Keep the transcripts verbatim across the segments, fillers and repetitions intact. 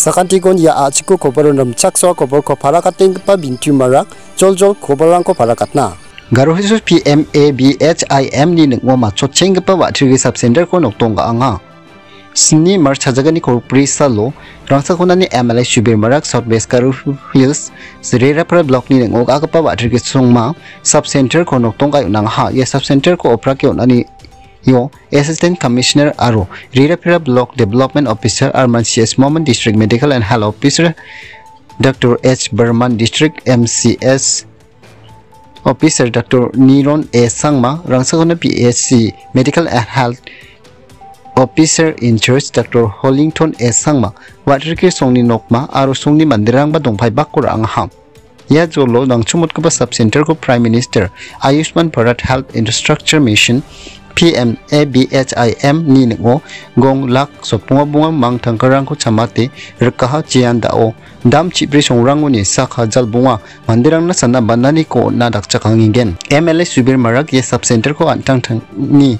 Sakantikon ia a·chiko koboro rimchaksoa koborko parakatenggipa Bintu Marak, joljol koborrangko parakatna. Garo Hills P M A B H I M ni ning·o matchotchenggipa wa·tirgi sub-center-ko nokdong ga·anga. Sni March hajagani kolbri salo, Rangsakonani M L A Subir Marak South West Garo Hills, Rerapara Block-ni ning·o ga·gipa wa·tirgi songma sub-center-ko nokdong ga·e on·angaha. Ia sub-center-ko oprake on·ani io Assistant Commissioner aro Rerapara Block Development Officer Arman C S Momin, District Medical and Health Officer Doctor H Barman, District M C S Officer Doctor Niron A Sangma, Rangsakona P H C Medical and Health Officer in Charge Doctor Hollington A Sangma, wa·rikri songni nokma aro songni manderangba dongpaibako ra·angaha. Ia jolo nangchomotgipa sub-center-ko Prime Minister Ayushman Bharat Health Infrastructure Mission, P M A B H I M ni ning·o gong lak sotbonga bonga mangtangkarangko chamate rikaha jean da·o. Dam chibri songrangoni sak hajal bonga manderangna sana bananiko on·na dakchakangenggen. M L A Subir Marak ia sub-center-ko an·tangtangni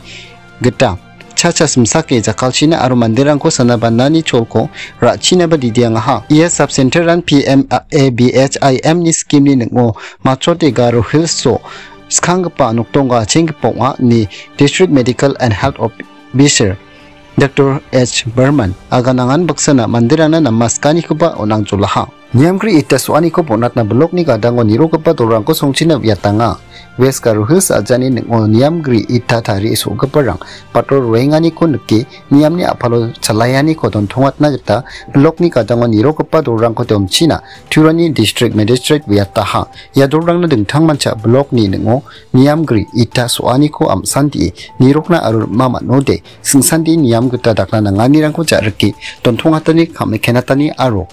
gita cha·cha simsake jakkalchina aro manderangko sana banani cholko ra·chinaba didiangaha. Ia sub-center-an P M A B H I M ni scheme-ni ning·o matchote Garo Hills-o skanggipa nokdongga chenggipa ong·a, ine District Medical and Health Officer Doctor H Barman aganangan baksana manderangna namaskanikoba on·angjolaha. Niamgri ita so·aniko bonatna bilokni gadango nirogipa dolrangko songchina uiatanga. West Garo Hills ajani ning·o niamgri ita tarie so·giparang patrol roenganiko nike niamni a·palo chalaianiko dontongatna gita bilokni gadango nirogipa dolrangko donchina Turani District Magistrate uiataha. Ia dolrangna dingtangmancha bilokni ning·o niamgri ita so·aniko am·sandie nirokna aro rima man·ode, singsandie niam gita dakna nanganirangko ja·rike dontongatani, kam·ikenatani aro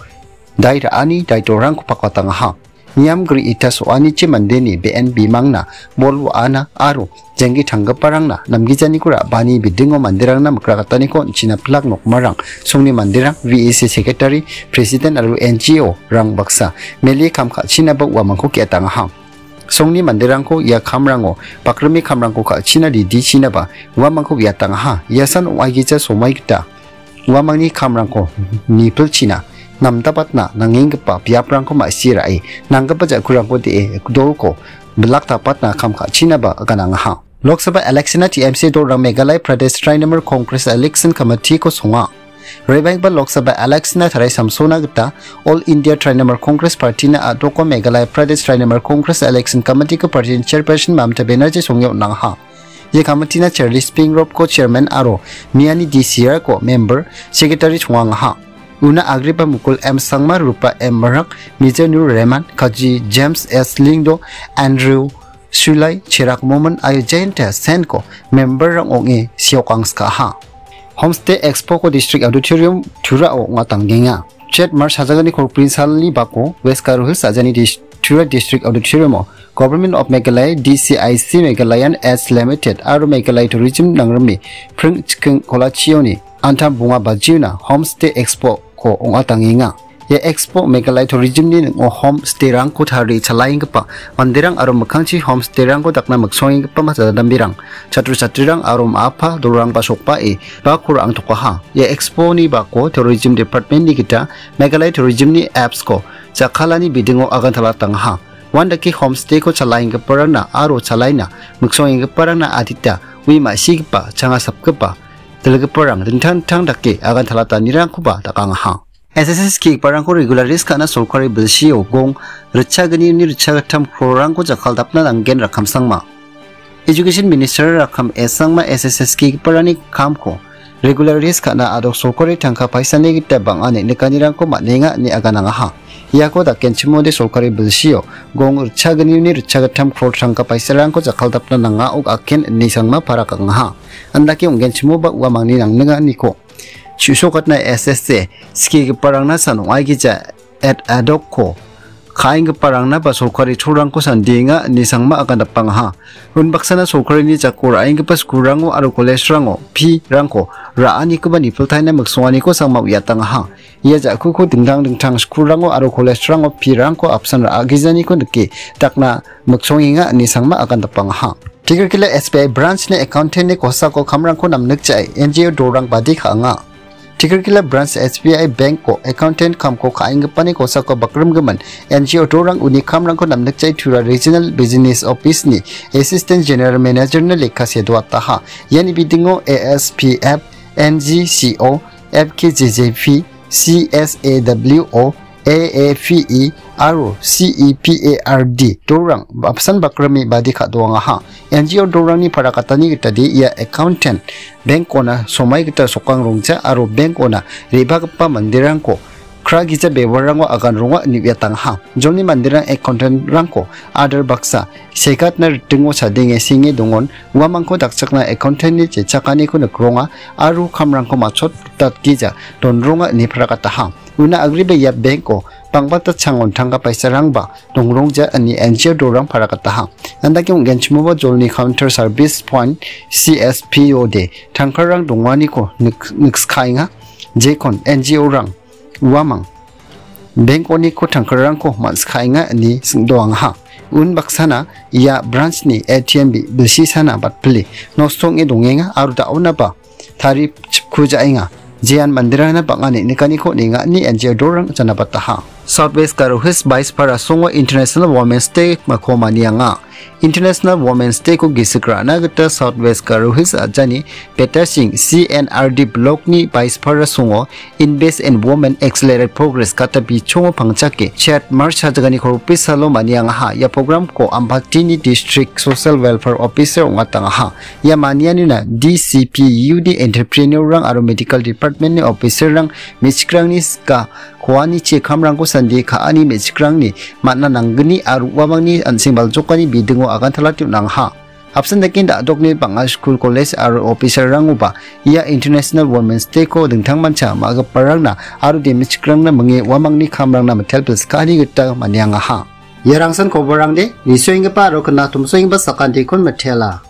dai ra·ani dai dolrangko pakbatangaha. Niamgri ita so·anichi mandeni be·en bimangna bol wa·ana aro jenggi tanggiparangna namgijaniko ra·bani bidingo manderangna mikrakataniko on·china pilak nokmarang, songni manderang, V A C Secretary, President aro N G O-rang baksa mele kam ka·chinaba uamangko ge·atangaha. Songni manderangko ia kamrango bakrime kamrangko ka·china didichinaba uamangko ge·atangaha. Iasan ong·aigija somai gita uamangni kamrangko nipilchina namdapatna nangenggipa biaprangko ma·sie ra·e, nanggipa ja·kurangko de·e dolko bilak dapatna kam ka·chinaba aganangaha. Lok Sabha election-a T M C dolrang Meghalaya Pradesh Trinamool Congress Election Committee-ko songa. Rebanggipa Lok Sabha election-a tarai samsona gita All India Trinamool Congress Party-na a·doko Meghalaya Pradesh Trinamool Congress Election Committee-ko Party-ni Chairperson Mamata Banerjee songe on·angaha. Ia committee-na Charles Pingropko Chairman aro Miani D C R-ko Member Secretary songangaha. Una agriba Mukul M Sangma, Rupa M Marak, Mijanur Rehman, Kaji James S Lyngdoh, Andrew Sulai, Chirag Momin, aro Jayanta Sen-ko member-rang ong·e seokangskaha. Homestay Expo-ko District Auditorium Tura-o ong·atangenga. Chet March hajagani kolbri salni bako West Garo Hills ajani dis-, Tura District Auditorium-o Government of Meghalaya, D C I C Meghalaya and S Limited aro Meghalaya Tourism nangrime pring chiking kolachioni antam bonga bajiona Homestay Expo-ko ong·atangenga. Ia Expo Meghalaya Tourism-ni ning·o homestay-rangko tarie chalaenggipa manderang aro mikkangchi homestay-rangko dakna miksongenggipa majadambirang, chatro chatrirang aro ma·apa dolrangba sokbae bako ra·angtokaha. Ia Expo-ni bako Tourism Department-ni gita Meghalaya Tourism-ni apps-ko jakkalani bidingo agantalatangaha. Uandake homestay-ko chalaenggiparangna aro chalaina miksongenggiparangna adita ui ma·sigipa, changa sapgipa, dilgiparang dingtang dingtang dake agantalatanirangkoba dakangaha. S S S skigiparangko regularis ka·na sorkari bilsio gong ritchagni uni ritchagittam krorrangko jakkaldapna nanggen Rakhamsangma. Education Minister Rakham S Sangma S S S skigiparangni kamko regularis ka·na adok sorkari tangka paisani gita bang·a neng·nikanirangko man·enga ine aganangaha. Iako dakenchimode sorkari bilsio gong ritchagni uni ritchagittam kror tangka paisarangko jakkaldapna nanga ok aken ine Sangma parakangaha. Andake ong·genchimoba uamangni nangninganiko chu·sokatna S S A skigiparangna san ong·aigija et adokko ka·enggiparangna ba sorkari cholrangko sandienga ine Sangma agandapangaha. Unbaksana sorkarini jako ra·enggipa skulrango aro kolejrango pirangko ra·anikoba nipiltaina miksonganiko Sangma uiatangaha. Ia ja·kuko dingtang dingtang skulrango aro kolejrango pirangko apsan ra·agijaniko nike dakna miksongenga ine Sangma agandapangaha. Tikrikila S B I branch-ni accountant-ni kosako kamrangko namnikjae N G O dolrang badi ka·anga. Tikrikila Branch S B I Bank-o accountant kamko ka·enggipani kosako bakrimgimin N G O dorang uni kamrangko namnikjai Tura Regional Business Office-ni Assistant General Manager-ni lekka sedoataha. Iani bidingo A S P F, N G C O, F K J J P, C S A W O, A A P E aro C E P A R D dorang apsan bakrime badi ka·doangaha. N G O dorangni parakatani gitade ia accountant bank-ona somai gita sokang rongja aro bank-ona re·bagipa manderangko kra gija bewarango agan ronga ine uiatangaha. Jolni manderang accountant-rangko adar baksa segatna ritingo chadenge senge dongon, uamangko dakchakna accountant-ni jechakaniko nikronga aro kamrangko matchot ritatgija donronga ine parakataha. Una agreba ia bank-o bang·bata changon tangka paisarangba dongrongja ine N G O dorang parakataha. Andake ong·genchimoba jolni counter service point C S P O de tangkarang donganiko nik-, nikskaenga. Jekon N G O-rang uamang bank-oniko tangkarangko man·skaenga ine singdoangaha. Unbaksana ia branch-ni A T M bi-, bilsisana batpile nosto ong·e dongenga aro da·onaba tari chipkujaenga. Jean manderangna bang·a neng·nikaniko nenga ine N G O dorang janabataha. South West Garo Hills Baispara songo International Women's Day-ko manianga. International Women's Day-ko gisik ra·na gita South West Garo Hills a·jani Betasing C N R D Block-ni Baispara songo Invest in Women Accelerate Progress kata bichongo pangchake chet March hajagani korpi salo maniangaha. Ia program-ko Ampatini District Social Welfare Officer ong·atangaha. Ia manianina D C P U D entrepreneur-rang aro medical department-ni officer-rang me·chikrangni sika koani chekamrangko sandie ka·ani me·chikrangni man·a nanggni aro uamangni an·seng baljokani bidingo agantalate on·angaha. Apsan dake da·dokni bang·a skul, kolej aro officer-rangoba ia International Women's Day-ko dingtangmancha ma·giparangna aro de·mechikrangna minge uamangni kamrangna mitel pilskani gita maniangaha. Ia rangsan koborangde nisoenggipa aro knatomsoenggipa sakantikon mitela.